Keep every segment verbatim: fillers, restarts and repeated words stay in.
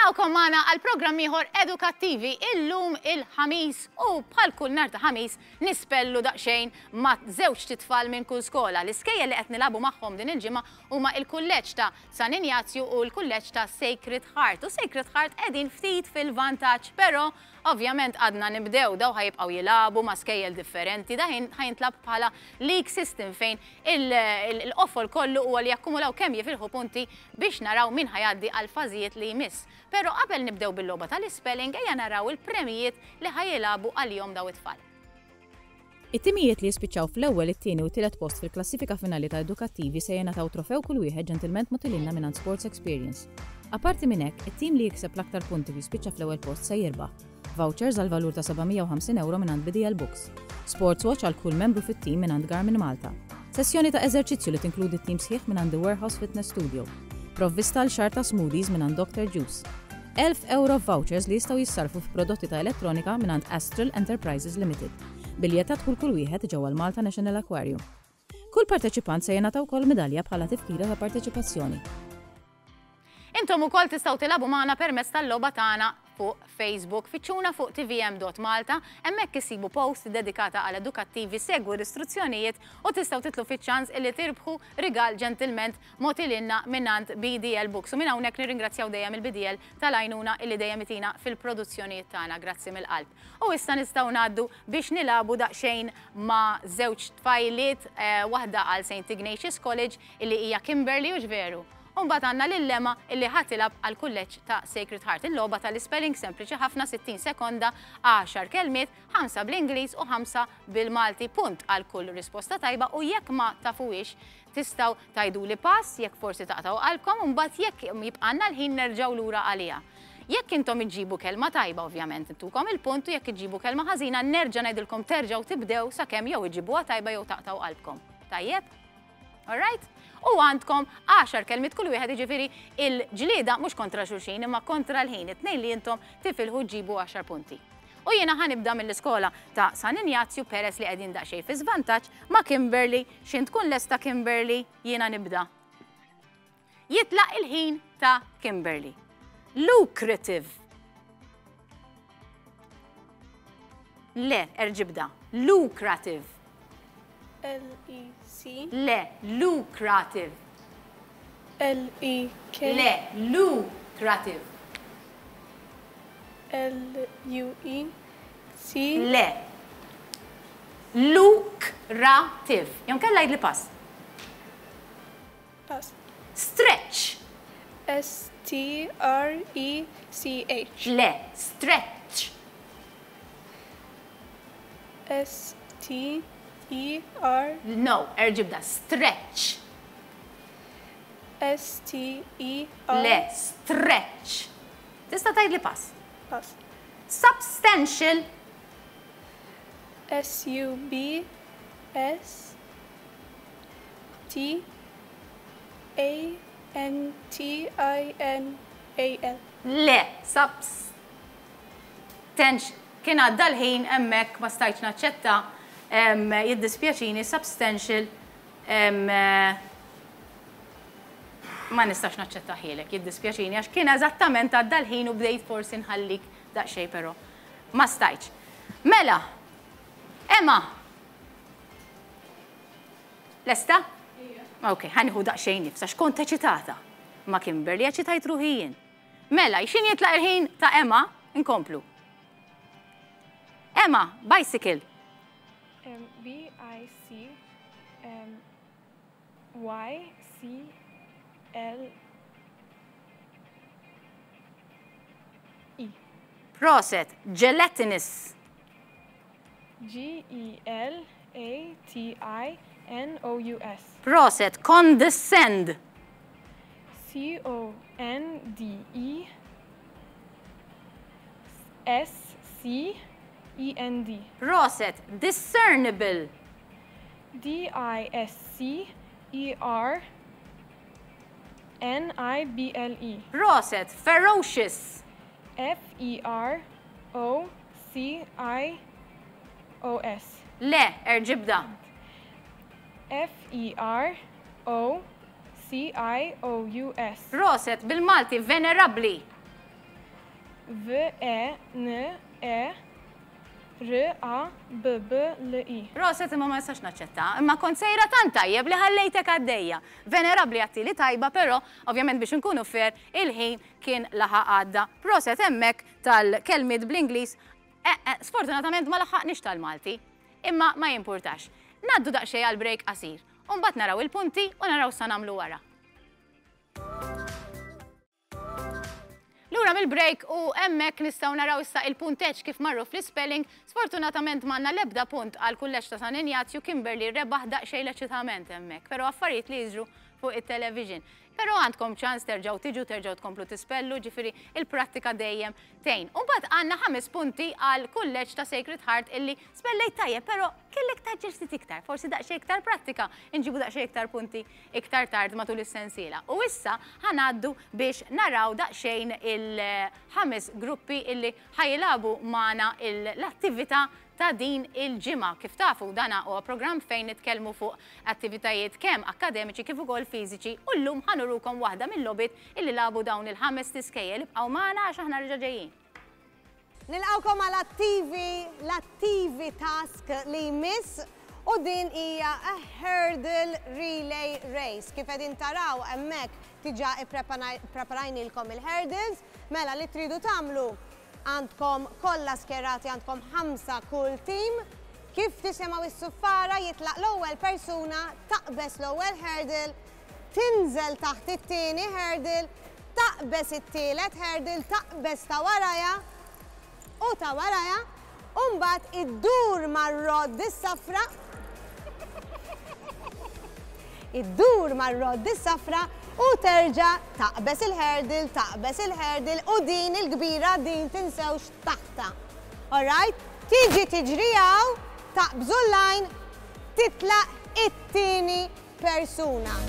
Nilqgħukom magħna għal programm ieħor edukattivi illum il-Ħamis u bħal kull nhar ta' Ħamis nispellu daqsxejn ma' żewġt itfal minn kull skola. L-iskejjel li qed nilagħbu magħhom din il-ġimgħa huma il-kulleġġ ta' San Injazju u l-kulleġġ ta' Sacred Heart. U Sacred Heart qegħdin ftit fil-vantaġġ, però ovvjament għadna nibdew daw ħa jibqgħu jilagħbu ma' skejjel differenti, da ħa jintlagħab bħala league system fejn il-qofol kollu huwa li jakkumulaw kemm jifilħu punti biex naraw min ħa jgħaddi għal fażijiet li jmiss. Però qabel nibdew bil-logħba tal-spelling ejja naraw il-premijiet li ħa jilagħbu għalihom daw it-tfal. It-timijiet li jispiċċaw fl-ewwel, it-tieni u tielet post fil-klassifika finali ta' edukattivi se jingħataw trofew kull wieħed ġentilment mogħti lilna minn Sports Experience. Aparti minn hekk, it-tim li jikseb l-aktar punti u jispiċċa fl-ewwel post se jirbaħ. Vouchers għal valur ta' seba' mija u ħamsin euro minn B D L Books. Sports Watch għal kull membru fit-tim minn Garmin Malta. Sessjoni ta' eżerċizzju li tinkludi t-tim sħiħ minn The Warehouse Fitness Studio. Provvista għal xahar ta' smoothies minn Doctor Juice. elf euro vouchers li jistgħu jissarfu f'prodotti ta' elettronika minn Astral Enterprises Limited. Biljett ta' dħul kull wieħed ġewwa l-Malta National Aquarium. Kull parteċipant se jingħata wkoll medalja bħala tifkira ta' parteċipazzjoni. Intom ukoll tistgħu tilagħbu magħna permezz tal-logħba tagħna fuq Facebook, fittxuna fuq T V M dot Malta, hemmhekk issibu post dedikata għal edukattivi, segwu l-istruzzjonijiet u tistgħu titlu fiċ-ċans illi tirbħu rigal ġentilment mogħti lilna mingħand B D L Books. U minn hawnhekk nirringrazzjaw dejjem il-B D L tal-għajnuna illi dejjem itina fil-produzzjonijiet tagħna, grazzi mill-qalb. U issa nistgħu ngħaddu biex nilagħbu daqsxejn ma' żewġ tfajliet, eh, waħda għal Saint Ignatius College illi hija Kimberly, u veru. Umbagħad għandna lil Emma illi ħa tilgħab għal kulleġġ ta' Sacred Heart. Il-logħba tal-spelling sempliċi ħafna, sittin sekonda, għaxar kelmiet, ħamsa bl-Ingliż u ħamsa bil-Malti. Punt għal kull risposta tajba u jekk ma tafuhiex tistgħu tgħiduli pass jekk forsi taqtgħu qalbkom u mbagħad jekk jibqanna l-ħin nerġgħu lura għaliha. Jekk intom iġġibu kelma tajba, ovvjament intukom il-punt, u jekk iġġibu kelma ħażina nerġa' ngħidilkom terġgħu tibdew sakemm jew iġibuha tajba jew taqtgħu qalbkom. Tajjeb? All right? U għandkom għaxar kelmiet kull wieħed, jiġifieri il-ġlieda mhux kontra xulxin imma kontra l-ħin, it-tnejn li intom tifilħu ġibu għaxar punti. U jiena ħa nibda mill-iskola ta' San Injazju peress li qegħdin daqsxejn fi żvantaġġ ma' Kimberly. X'ħin tkun lesta Kimberly, jiena nibda. Jitlaq il-ħin ta' Kimberly. Lucrative. Le, erġa' ibda. Lucrative. L E C. Le, lucrative. L E K. Le, lucrative. L U E C. Le. Lucrative. Jew inkella għidli pass. Pass. Stretch. S T R E C H. Le, stretch. S T E R. No, erġa' ibda. Stretch. S T E R. Le, stretch. Tista' tgħidli pass. Pass. Substantial. S U B S T A N T I N A L. Le, substantial. Kien għadda l-ħin hemmhekk, ma stajtx naċċetta, em, jiddispjaċini, substantial em, eh, ma nistax naċċettahielek, jiddispjaċini, għax kien eżattament għadda l-ħin u bdejt forsi nħallik daqsxejn, però ma stajtx. Mela, Emma, lesta? Ok, ħa nieħu daqsxejn nifs, għax kont eċitata. Ma' Kimberly eċitajt ruħi jien. Mela, x'ħin jitlaq il-ħin ta' Emma, inkomplu. Emma, bicycle. Um, B I C um, Y C L E. Prosit, gelatinous. G E L A T I N O U S. Prosit, condescend. C O N D E S C E N D. Prosit, discernible. D I S C E R N I B L E. Prosit, ferocious. F E R O C I O S. Le, erġa' ibda. F E R O C I O U S. Prosit, bil-Malti, venerabli. V E N E R A B B L I. Proset, imma ma nistax naċċetta, imma kont sejra tant tajjeb li ħallejtek għaddejja. Venerabbli għattili tajba, però ovvjament biex nkunu fair, il-ħin kien laħaq għadda. Proset hemmhekk tal-kelmiet bl-Ingliż, eh, eh, sfortunatament ma laħaqniex tal-Malti, imma ma jimpurtax. Ngħaddu daqsxejn għal break qasir, u mbagħad naraw il-punti u naraw sa nagħmlu wara. Lura mill-break u hemmhekk nistgħu naraw issa il-punteġġ kif marru fl-spelling. Sfortunatament m'għandna l-ebda punt għal kulleġġ ta' San Injazju. Kimberly rebaħ daqsxejn l-eċitament hemmhekk, però affarijiet li jiġru fuq it-television. Però għandkom ċans terġgħu tiġu, terġgħu tkomplu tispellu, ġifieri il-prattika dejjem tgħin. U mbagħad għandna ħames punti għal kulleġġ ta' Sacred Heart illi spellejt tajjeb, però kellek taġġel ftit iktar, forsi daqsxejn iktar prattika, inġibu daqsxejn iktar punti iktar tard matul is-sensiela. U issa ħanaddu biex naraw daqsxejn il-ħames gruppi illi ħajilagħbu magħna l-attività ta' din il-ġimgħa. Kif tafu, dana huwa programm fejn nitkellmu fuq attivitajiet kemm akademiċi kif ukoll fiżiċi, u llum ħanurukom waħda mill-logħbiet illi lagħbu dawn il-ħames tiskejjel. Ibqgħu magħna għax aħna reġa' ġejjin. Nilqgħukom għal attivi, l-attivi task li jmiss, u din hija a hurdle relay race. Kif qegħdin taraw hemmhekk diġà ippreparajnilkom il-hurdles, mela li tridu tagħmlu għandkom kollha skjerati, għandkom ħamsa kull tim. Kif tisimgħu is-suffara jitlaq l-ewwel persuna, taqbeż l-ewwel hurdle, tinżel taħt it-tieni hurdle, taqbeż it-tielet hurdle, taqbeż ta' warajha u ta' warajha, u mbagħad iddur mar-rod is-safra. Iddur mar-rod is-safra u terġa' taqbeż il-hurdle, taqbeż il-hurdle, u din il-kbira din tinsewx taħta. Alright? Tiġi tiġri hawn, taqbżu l-line, titlaq it-tieni persuna.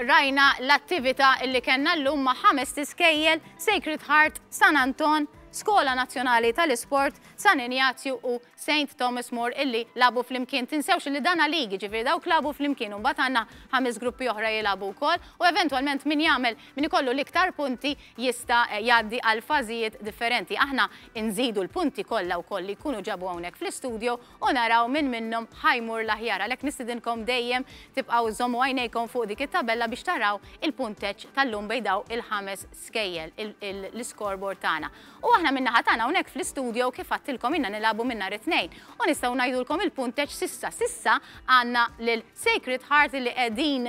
Rajna l-attività illi kellna llum ma' ħames tiskejjel, Sacred Heart, San Anton, Skola Nazzjonali tal-Isport, San Injazju u Saint Thomas More illi labu flimkien. Tinsewx li dana ligi, ġifieri dawk labu flimkien, u mbagħad għandna ħames gruppi oħra jilagħbu wkoll, u eventwalment min jagħmel, min ikollu l-iktar punti jista' jgħaddi għal fażijiet differenti. Aħna nżidu l-punti kollha wkoll li jkunu ġabu hawnhekk fl-istudio u naraw min minnhom ħajmur l-aħjar. Għalhekk nistidinkom dejjem tibqgħu żommu għajnejkom fuq dik it-tabella biex taraw il-punteġġ tal-lum bejn daw il-ħames skejjel, l-scoreboard tagħna. U aħna Aħna min-naħa tagħna hawnhekk fl-istudio, kif għedtilkom, ilna nilagħbu minn nhar it-Tnejn. U nistgħu ngħidulkom il-punteġġ s'issa. S'issa għandna lil Sacred Heart li qegħdin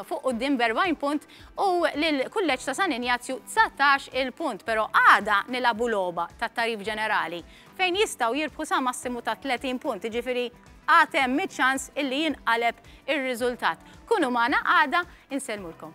fuq quddiem b'erbgħin punt u lil Kulleġġ ta' San Injazju dsatax il-punt, però għada nilagħbu logħba tat-tarif ġenerali fejn jistgħu jirbħu sa massimu ta' tletin punt, ġifieri għad hemm ċans illi jinqaleb ir-riżultat. Kunu magħna għada, insellmulkom.